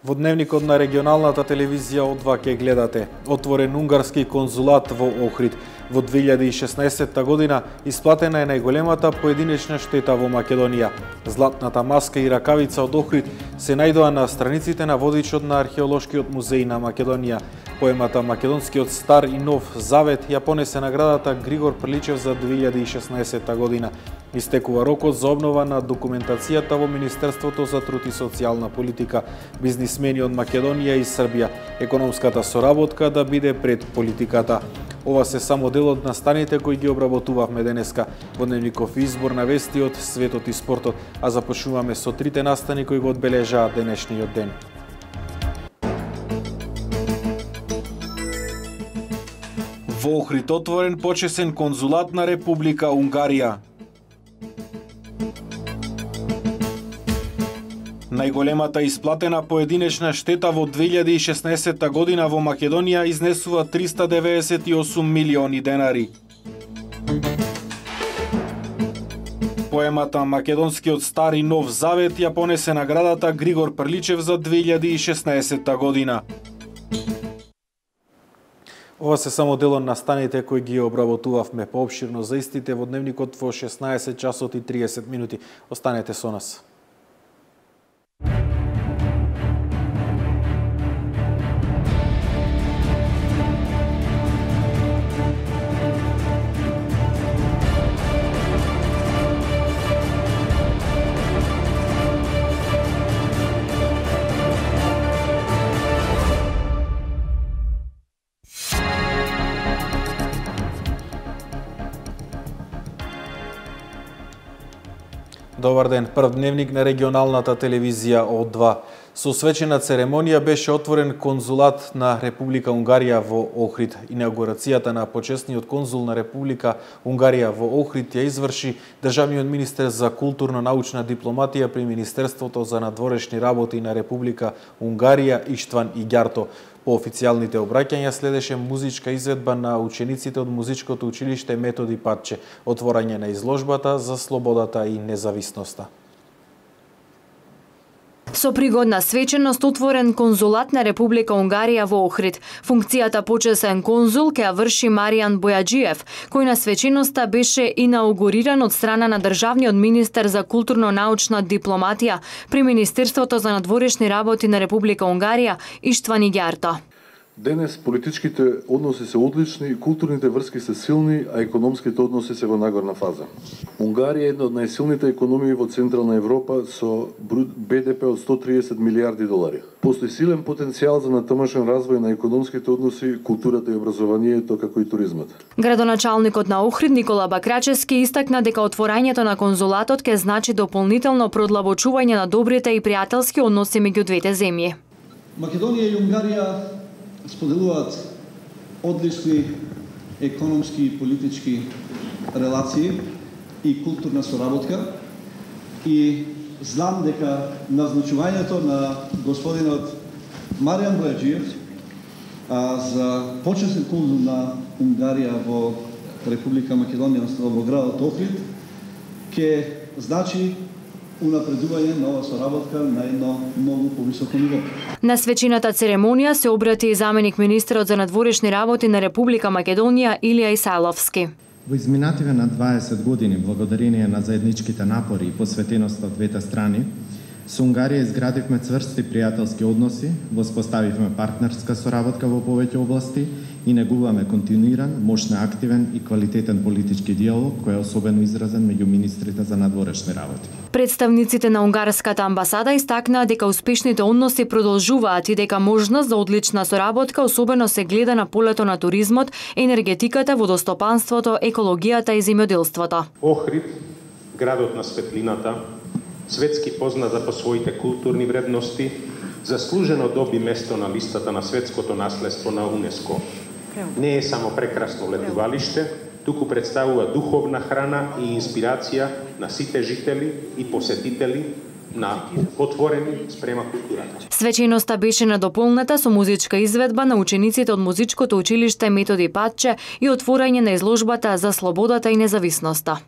Во дневникот на регионалната телевизија О2 ќе гледате отворен унгарски конзулат во Охрид. Во 2016 година исплатена е најголемата поединечна штета во Македонија. Златната маска и ракавица од Охрид се најдоа на страниците на водичот на Археолошкиот музеј на Македонија. Поемата Македонскиот стар и нов завет ја понесе наградата Григор Прличев за 2016 година. Истекува рокот за обнова на документацијата во Министерството за труд и социјална политика. Бизнисмени од Македонија и Србија, економската соработка да биде пред политиката. Ова се само дел од настаните кои ги обработувавме денеска во дневников избор на вести од светот и спортот, а започнуваме со трите настани кои го одбележаат денешниот ден. Во Охрид отворен почесен конзулат на Република Унгарија. Најголемата исплатена поединечна штета во 2016 година во Македонија изнесува 398 милиони денари. Поемата Македонскиот стар и нов завет ја понесе наградата Григор Прличев за 2016 година. Ова се само дел од настаните кои ги обработувавме поопширно за истите во дневникот во 16 часот и 30 минути. Останете со нас. Добар ден, прв дневник на регионалната телевизија О2. Со свечена церемонија беше отворен конзулат на Република Унгарија во Охрид. Инаугурацијата на почесниот конзул на Република Унгарија во Охрид ја изврши државниот министер за културно-научна дипломатија при Министерството за надворешни работи на Република Унгарија Иштван Игјарто. По официјалните обраќања следеше музичка изведба на учениците од музичкото училиште Методи Патче, отворање на изложбата за слободата и независноста. Со пригодна свеченост отворен конзулат на Република Унгарија во Охрид. Функцијата почесен конзул ќе ја врши Маријан Бојаджиев, кој на свеченоста беше инаугуриран од страна на државниот министер за културно-научна дипломатија при Министерството за надворешни работи на Република Унгарија Иштван Игјарто. Денес политичките односи се одлични, културните врски се силни, а економските односи се во нагорна фаза. Унгарија е една од најсилните економии во Централна Европа со БДП од 130 милиарди долари. Постои силен потенцијал за натамошен развој на економските односи, културата и образованието, како и туризмот. Градоначалникот на Охрид Никола Бакрачевски истакна дека отворањето на конзулатот ќе значи дополнително продлабочување на добрите и пријателски односи меѓу двете земји. Македонија и Унгарија споделуваат одлични економски и политички релации и културна соработка и знам дека назначувањето на господинот Маријан Бојаджиев за почесен конзул на Унгарија во Република Македонија, во градот Охрид, ќе значи унапредување на ова соработка на едно многу повисоко ниво. На свечената церемонија се обрати и заменик министерот за надворешни работи на Република Македонија Илија Исајловски. Во изминативе на 20 години, благодарение на заедничките напори и посветеноста од двете страни, со Унгарија изградивме цврсти пријателски односи, воспоставивме партнерска соработка во повеќе области и негуваме континуиран, мощно активен и квалитетен политички диалог кој е особено изразен меѓу министрите за надворешни работи. Представниците на унгарската амбасада истакнаа дека успешните односи продолжуваат и дека можност за одлична соработка особено се гледа на полето на туризмот, енергетиката, водостопанството, екологијата и земјоделството. Охрид, градот на светлината, светски позната по своите културни вредности, заслужено доби место на листата на светското наследство на УНЕСКО. Не е само прекрасно летувалиште, туку представува духовна храна и инспирација на сите жители и посетители на отворени спрема културата. Свеченоста беше надополната со музичка изведба на учениците од музичкото училиште Методи Патче и отворање на изложбата за слободата и независноста.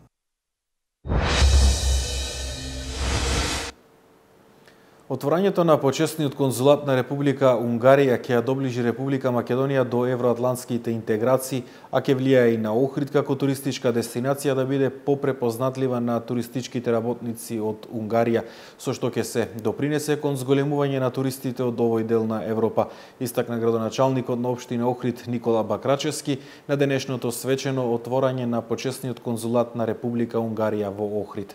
Отворањето на почесниот конзулат на Република Унгарија ќе ја доближи Република Македонија до евроатлантските интеграции, а ќе влијае и на Охрид како туристичка дестинација да биде попрепознатлива на туристичките работници од Унгарија, со што ќе се допринесе кон зголемување на туристите од овој дел на Европа, истакна градоначалникот на општина Охрид Никола Бакрачевски на денешното свечено отворање на почесниот конзулат на Република Унгарија во Охрид.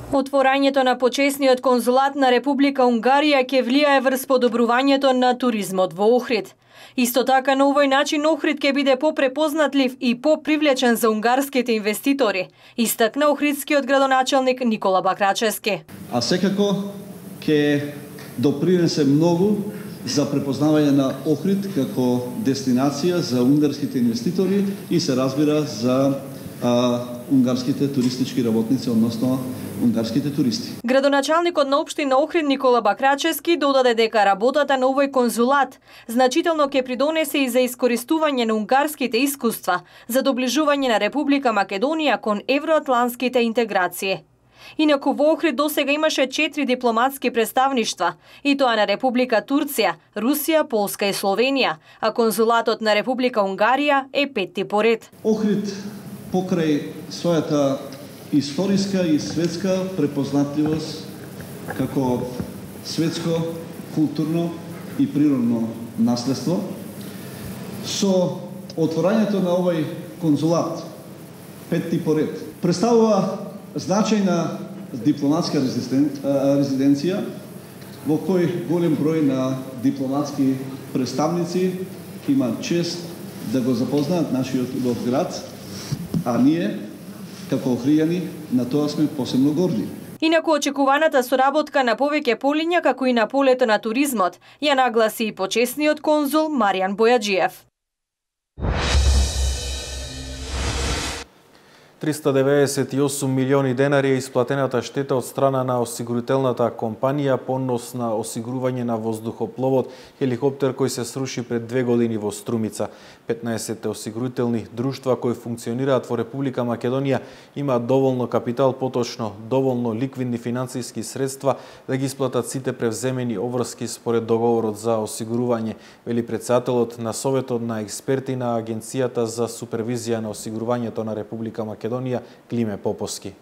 Отворањето на почесниот конзулат на Република Унгарија ќе влијае врз подобрувањето на туризмот во Охрид. Исто така на овој начин Охрид ќе биде попрепознатлив и попривлечен за унгарските инвеститори, истакна охридскиот градоначалник Никола Бакрачевски. А секако ќе допринесе многу за препознавање на Охрид како дестинација за унгарските инвеститори и се разбира за унгарските туристички работници, односно унгарските туристи. Градоначалникот на општина Охрид Никола Бакрачевски додаде дека работата на овој конзулат значително ќе придонесе и за искористување на унгарските искуства за доближување на Република Македонија кон евроатлантските интеграции. Инаку во Охрид досега имаше 4 дипломатски представништва, и тоа на Република Турција, Русија, Полска и Словенија, а конзулатот на Република Унгарија е 5ти поред. Охрид покрај својата историска и светска препознатливост како светско, културно и природно наследство, со отворањето на овој конзулат, 5ти поред, представува значајна дипломатска резиденција во кој голем број на дипломатски представници имаат чест да го запознаат нашиот град, а ние, како охријани, на тоа сме посебно горди. Инаку очекуваната соработка на повеќе полиња, како и на полето на туризмот, ја нагласи и почесниот конзул Маријан Бојаджиев. 398 милиони денари е исплатената штета од страна на осигурителната компанија по однос на осигурување на воздухопловот хеликоптер кој се сруши пред 2 години во Струмица. 15 осигурителни друштва кои функционираат во Република Македонија имаат доволно капитал, поточно доволно ликвидни финансиски средства да ги исплатат сите превземени обврски според договорот за осигурување, вели претседателот на Советот на експерти на Агенцијата за супервизија на осигурувањето на Република Македонија Климе Поповски.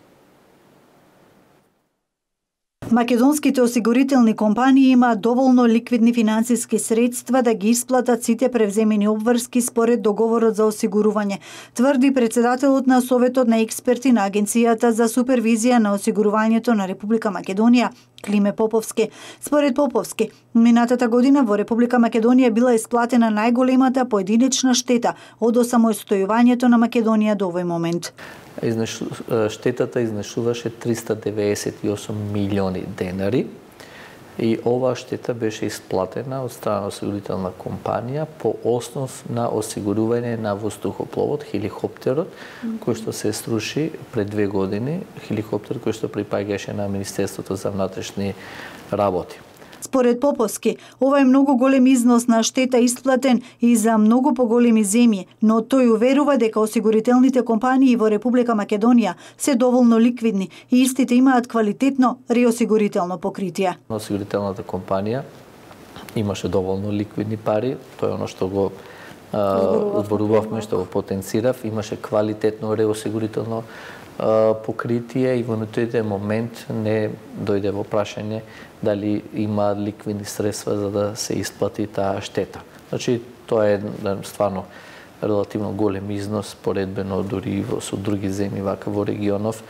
Македонските осигурителни компании имаат доволно ликвидни финансиски средства да ги исплатат сите превземени обврски според договорот за осигурување, тврди претседателот на Советот на експерти на Агенцијата за супервизија на осигурувањето на Република Македонија Климе Поповски. Според Поповски, минатата година во Република Македонија била исплатена најголемата поединечна штета од осамостојувањето на Македонија до овој момент. Штетата изнесуваше 398 милиони денари и оваа штета беше исплатена од страна на осигурителна компанија по основ на осигурување на воздухопловот, хеликоптерот, кој што се сруши пред 2 години, хеликоптер кој што припаѓаше на Министерството за внатрешни работи. Според Поповски, ова е многу голем износ на штета исплатен и за многу поголеми земји, но тој уверува дека осигурителните компании во Република Македонија се доволно ликвидни и истите имаат квалитетно реосигурително покритие. Осигурителната компанија имаше доволно ликвидни пари, тоа е оно што го зборувавме, што го потенцирав, имаше квалитетно реосигурително покритие и во настојниот момент не дојде во прашање дали има ликвидни средства за да се исплати таа штета. Значи, тоа е стварно релативно голем износ, поредбено дури со други земји вака во регионов,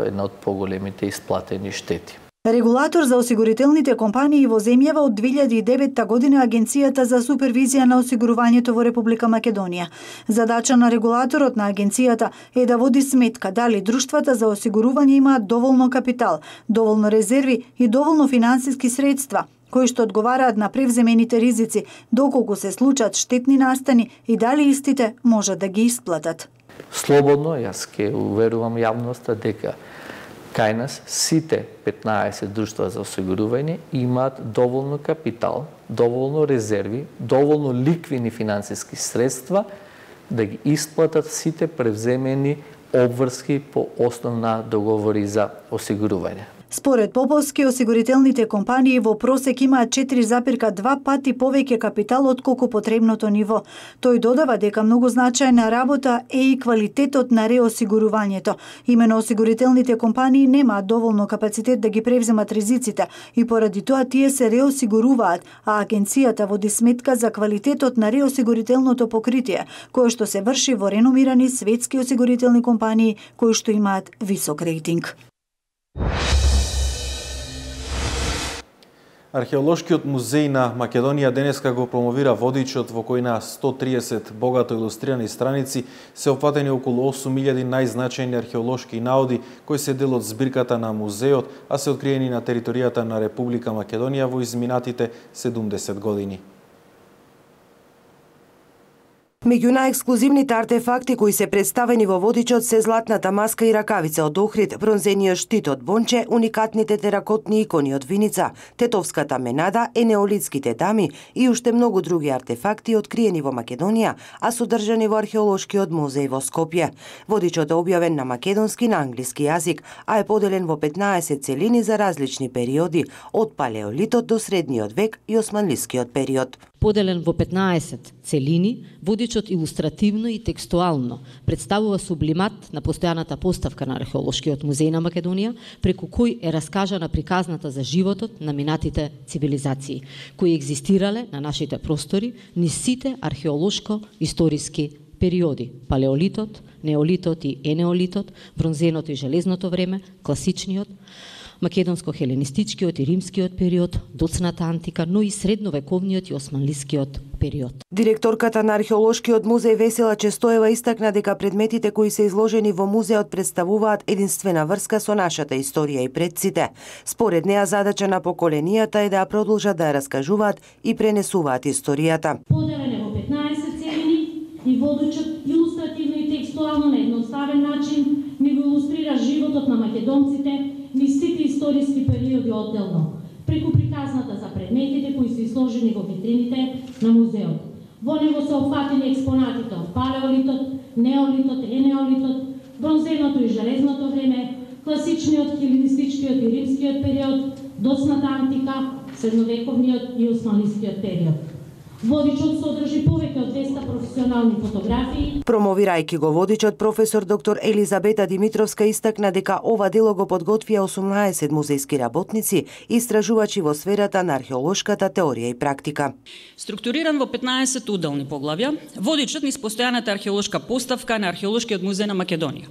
една од поголемите исплатени штети. Регулатор за осигурителните компании во земјава од 2009 година Агенцијата за супервизија на осигурувањето во Република Македонија. Задача на регулаторот на агенцијата е да води сметка дали друштвата за осигурување имаат доволно капитал, доволно резерви и доволно финансиски средства кои што одговараат на превземените ризици, доколку се случат штетни настани и дали истите можат да ги исплатат. Слободно јас ќе уверувам јавноста дека кај нас сите 15 друштва за осигурување имаат доволно капитал, доволно резерви, доволно ликвидни финансиски средства да ги исплатат сите превземени обврски по основна договори за осигурување. Според Поповски, осигурителните компании во просек имаат 4,2 пати повеќе капитал отколку потребното ниво. Тој додава дека многу значајна работа е и квалитетот на реосигурувањето. Имено осигурителните компании немаат доволно капацитет да ги превземат ризиците и поради тоа тие се реосигуруваат, а агенцијата води сметка за квалитетот на реосигурителното покритие, кое што се врши во реномирани светски осигурителни компании кои што имаат висок рейтинг. Археолошкиот музеј на Македонија денеска го промовира водичот во кој на 130 богато илустрирани страници се опфатени околу 8000 најзначајни археолошки наоди кои се дел од збирката на музеот, а се откриени на територијата на Република Македонија во изминатите 70 години. Меѓу најексклузивните артефакти кои се представени во водичот се златната маска и ракавица од Охрид, бронзениот штит од Бонче, уникатните теракотни икони од Виница, тетовската менада, енеолитските дами и уште многу други артефакти откриени во Македонија, а содржани во археолошкиот музеј во Скопје. Водичот е објавен на македонски и на англиски јазик, а е поделен во 15 целини за различни периоди, од палеолитот до средниот век и османлискиот период. Поделен во 15 целини, водичот илустративно и текстуално представува сублимат на постојаната поставка на археолошкиот музеј на Македонија, преку кој е раскажана приказната за животот на минатите цивилизации, кои екзистирале на нашите простори низ сите археолошко-историски периоди: палеолитот, неолитот и енеолитот, бронзеното и железното време, класичниот, македонско-хеленистичкиот и римскиот период, доцната антика, но и средновековниот и османлискиот период. Директорката на археолошкиот музеј Весела Честоева истакна дека предметите кои се изложени во музеот представуваат единствена врска со нашата историја и предците. Според неа, задача на поколенията е да ја продолжат да ја раскажуваат и пренесуваат историјата. Поделен е во 15 целини и водичот илустративно и текстуално на едноставен начин ни го илустрира животот на македонците низ сите историски периоди одделно, преку приказната за предметите кои се изложени во витрините на музеот. Во него се опфатени експонатите од палеолитот, неолитот, енеолитот, бронзеното и железното време, класичниот, хеленистичкиот и римскиот период, доцната антика, средновековниот и османлискиот период. Водичот содржи повеќе од 200 професионални фотографии. Промовирајќи го водичот, професор доктор Елизабета Димитровска истакна дека ова дело го подготвија 18 музејски работници и истражувачи во сферата на археолошката теорија и практика. Структуриран во 15 уделни поглавја, водичот низ постојаната археолошка поставка на Археолошкиот музеј на Македонија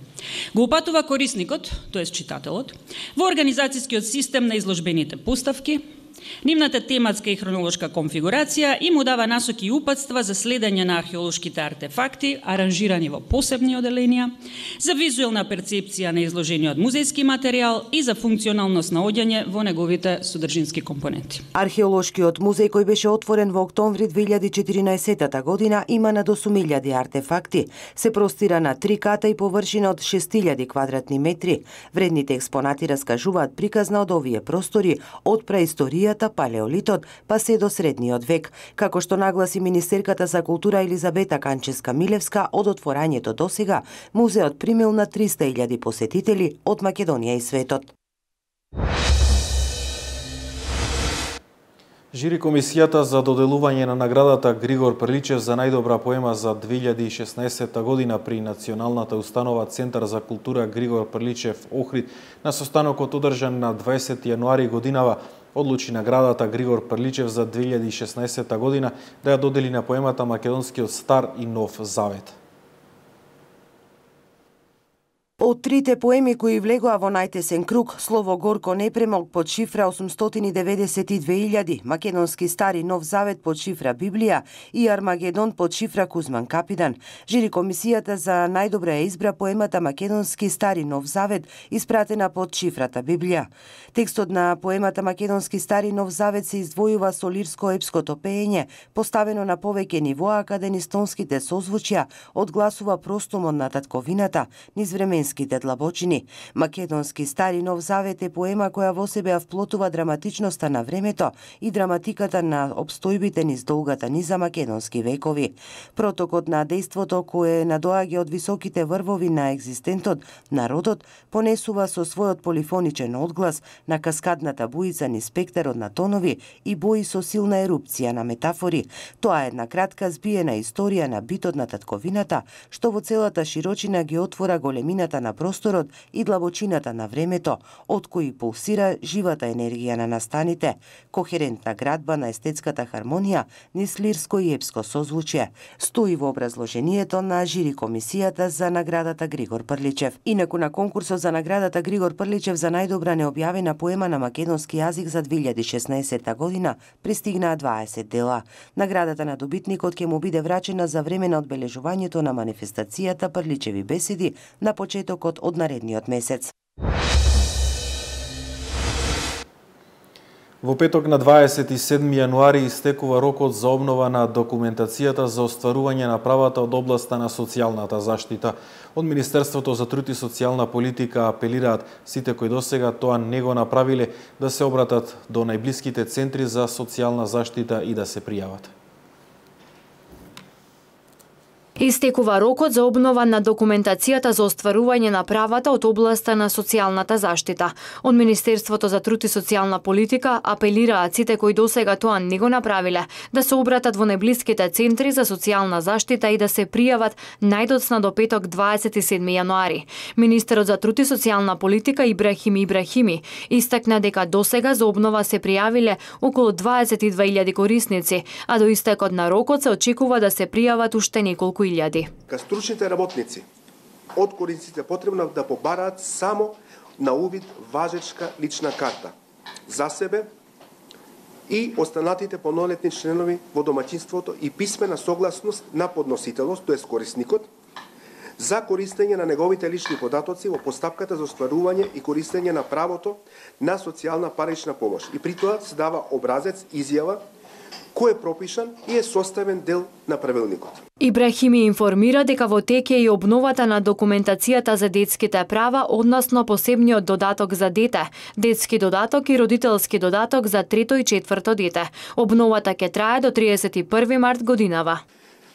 го упатува корисникот, тоест читателот, во организацијскиот систем на изложбените поставки, нивната тематска и хронолошка конфигурација и му дава насоки и упатства за следење на археолошките артефакти, аранжирани во посебни оделенија, за визуелна перцепција на изложениот музејски материјал и за функционално снаоѓање во неговите содржински компоненти. Археолошкиот музеј, кој беше отворен во октомври 2014 година, има над 8000 артефакти. Се простира на 3 ката и површина од 6000 квадратни метри. Вредните експонати раскажуваат приказна од овие простори, од праисторијата, палеолитот, па се до средниот век. Како што нагласи министерката за култура Елизабета Канческа-Милевска, од отворањето досега, музеот примил на 300.000 посетители од Македонија и светот. Жири комисијата за доделување на наградата Григор Прличев за најдобра поема за 2016 година при Националната установа Центар за култура Григор Прличев Охрид на состанокот одржан на 20 јануари годинава одлучи наградата Григор Прличев за 2016 година да ја додели на поемата Македонскиот стар и нов завет. Од трите поеми кои влегоа во најтесен круг, Слово горко не премог под шифра 892.000, Македонски стари нов завет под шифра Библија и Армагедон под шифра Кузман Капидан. Жири комисијата за најдобра ја избра поемата Македонски стари нов завет, испратена под шифрата Библија. Текстот на поемата Македонски стари нов завет се издвојува со лирско-епското пеење, поставено на повеќе нивоа, каде низ тонските созвучја одгласува простумот на татковината, низ временските вистинските длабочини. Македонски стари нов завет е поема која во себе ја вплотува драматичноста на времето и драматиката на обстојбите низ долгата низа македонски векови. Протокот на дејството кое надоаѓа од високите врвови на екзистентот, народот понесува со својот полифоничен одглас на каскадната буица низ спектарот на тонови и бои со силна ерупција на метафори. Тоа е една кратка збиена историја на битот на татковината, што во целата широчина ги отвора големината на просторот и длабочината на времето, од кои пулсира живата енергија на настаните, кохерентна градба на естетската хармонија низ лирско и епско созвучје, стои во образложението на жири комисијата за наградата Григор Прличев. Инаку на конкурсот за наградата Григор Прличев за најдобра необјавена поема на македонски јазик за 2016 година пристигнаа 20 дела. Наградата на добитникот ќе му биде врачена за време на одбележувањето на манифестацијата Прличеви беседи на почетокот од наредниот месец. Во петок на 27 јануари истекува рокот за обнова на документацијата за остварување на правата од областа на социјалната заштита. Од Министерството за труд и социјална политика апелираат сите кои досега тоа не го направиле да се обратат до најблиските центри за социјална заштита и да се пријават. Истекува рокот за обнова на документацијата за остварување на правата од областа на социјалната заштита. Од Министерството за труд и социјална политика апелираат сите кои досега тоа не го направиле да се обратат во најблиските центри за социјална заштита и да се пријават најдоцна до петок 27 јануари. Министерот за труд и социјална политика Ибрахими Ибрахими истакна дека досега за обнова се пријавиле околу 22.000 корисници, а до истекот на рокот се очекува да се пријават уште неколку илјади. Ка стручните работници од корисниците потребно да побараат само на увид важечка лична карта за себе и останатите полнолетни членови во домаќинството и писмена согласност на подносителот, тоест корисникот, за користење на неговите лични податоци во постапката за остварување и користење на правото на социјална парична помош. И при тоа се дава образец, изјава, кој е пропишан и е составен дел на правилникот. Ибрахими информира дека во тек е и обновата на документацијата за детските права, односно посебниот додаток за дете, детски додаток и родителски додаток за трето и четврто дете. Обновата ќе трае до 31 март годинава.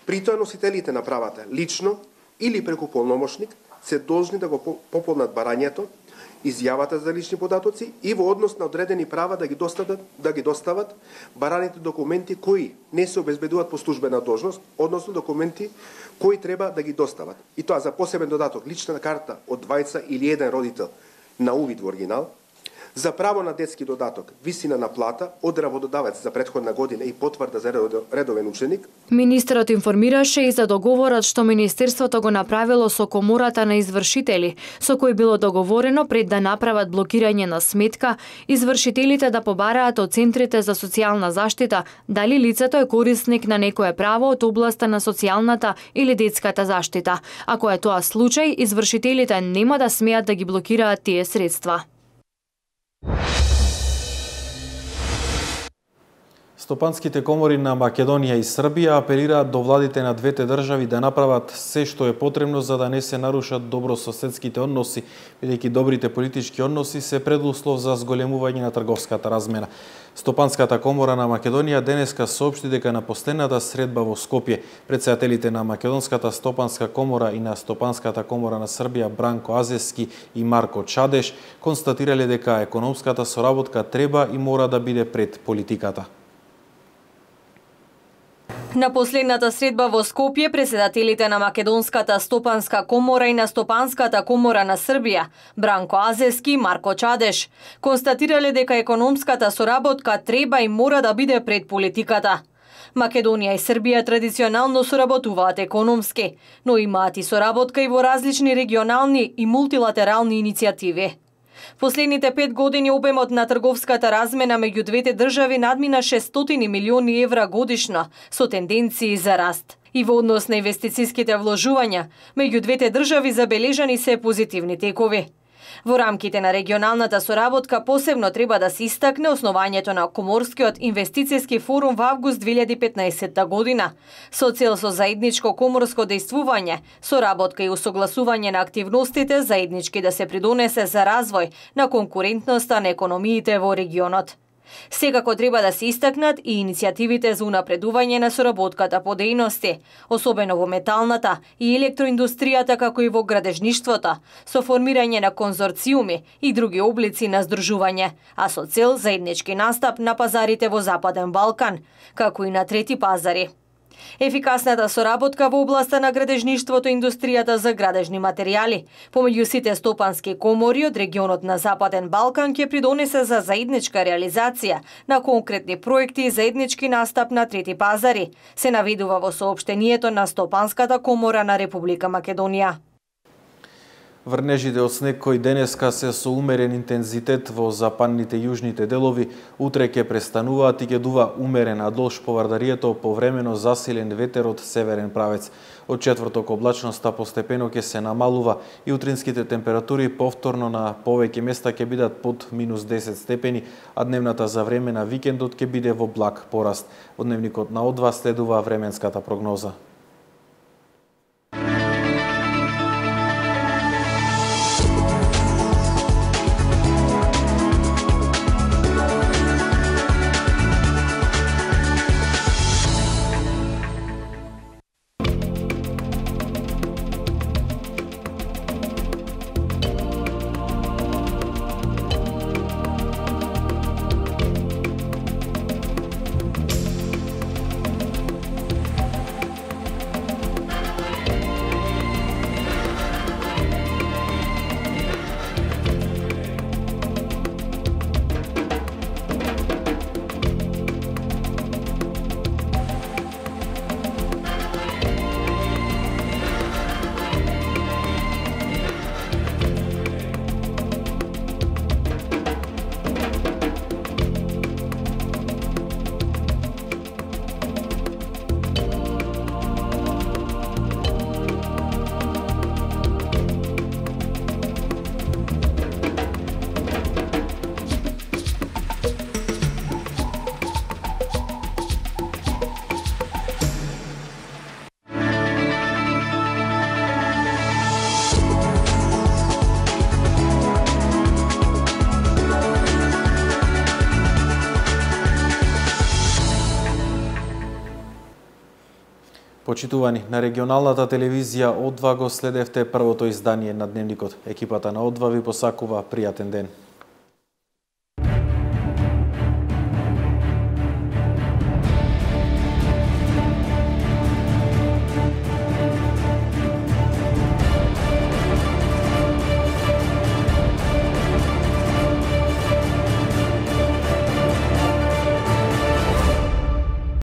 При тоа носителите на правата лично или преку полномошник се должни да го пополнат барањето, изјавата за лични податоци и во однос на одредени права да ги достават бараните документи кои не се обезбедуваат по службена должност, односно документи кои треба да ги достават. И тоа за посебен додаток лична карта од двајца или еден родител на увид во оригинал, за право на детски додаток, висина на плата од работодавец за претходна година и потврда за редовен ученик. Министерот информираше и за договорот што Министерството го направило со Комората на извршители, со кој било договорено пред да направат блокирање на сметка, извршителите да побараат од центрите за социјална заштита дали лицето е корисник на некое право од областа на социјалната или детската заштита. Ако е тоа случај, извршителите нема да смеат да ги блокираат тие средства. Стопанските комори на Македонија и Србија апелираат до владите на двете држави да направат се што е потребно за да не се нарушат добрососедските односи, бидејќи добрите политички односи се предуслов за зголемување на трговската размена. Стопанската комора на Македонија денеска соопшти дека на последната средба во Скопје претседателите на Македонската стопанска комора и на Стопанската комора на Србија Бранко Азески и Марко Чадеш констатирале дека економската соработка треба и мора да биде пред политиката. На последната средба во Скопје, претседателите на Македонската стопанска комора и на Стопанската комора на Србија, Бранко Азески и Марко Чадеш, констатирале дека економската соработка треба и мора да биде пред политиката. Македонија и Србија традиционално соработуваат економски, но имаат и соработка и во различни регионални и мултилатерални иницијативи. Последните 5 години обемот на трговската размена меѓу двете држави надмина 600 милиони евра годишно, со тенденции за раст. И во однос на инвестицијските вложувања, меѓу двете држави забележани се позитивни текови. Во рамките на регионалната соработка посебно треба да се истакне основањето на Коморскиот инвестицијски форум во август 2015 година, со цел со заедничко коморско дејствување, соработка и усогласување на активностите заеднички да се придонесе за развој на конкурентноста на економиите во регионот. Секако треба да се истакнат и иницијативите за унапредување на соработката по дејности, особено во металната и електроиндустријата како и во градежништвото, со формирање на конзорциуми и други облици на здружување, а со цел заеднички настап на пазарите во Западен Балкан, како и на трети пазари. Ефикасната соработка во областа на градежништвото и индустријата за градежни материјали помеѓу сите стопански комори од регионот на Западен Балкан ќе придонесе за заедничка реализација на конкретни проекти и заеднички настап на трети пазари, се наведува во соопштението на Стопанската комора на Република Македонија. Врнежите од снег кои денеска се со умерен интензитет во западните и јужните делови, утре ќе престануваат и ќе дува умерен, а долж поврдарието повремено засилен ветер од северен правец. Од четврток облачноста постепено ќе се намалува и утринските температури повторно на повеќе места ќе бидат под минус 10 степени, а дневната за време на викендот ќе биде во благ пораст. Од дневникот на О2 следува временската прогноза. Почитувани, на регионалната телевизија О2 го следевте првото издание на Дневникот. Екипата на О2 ви посакува пријатен ден.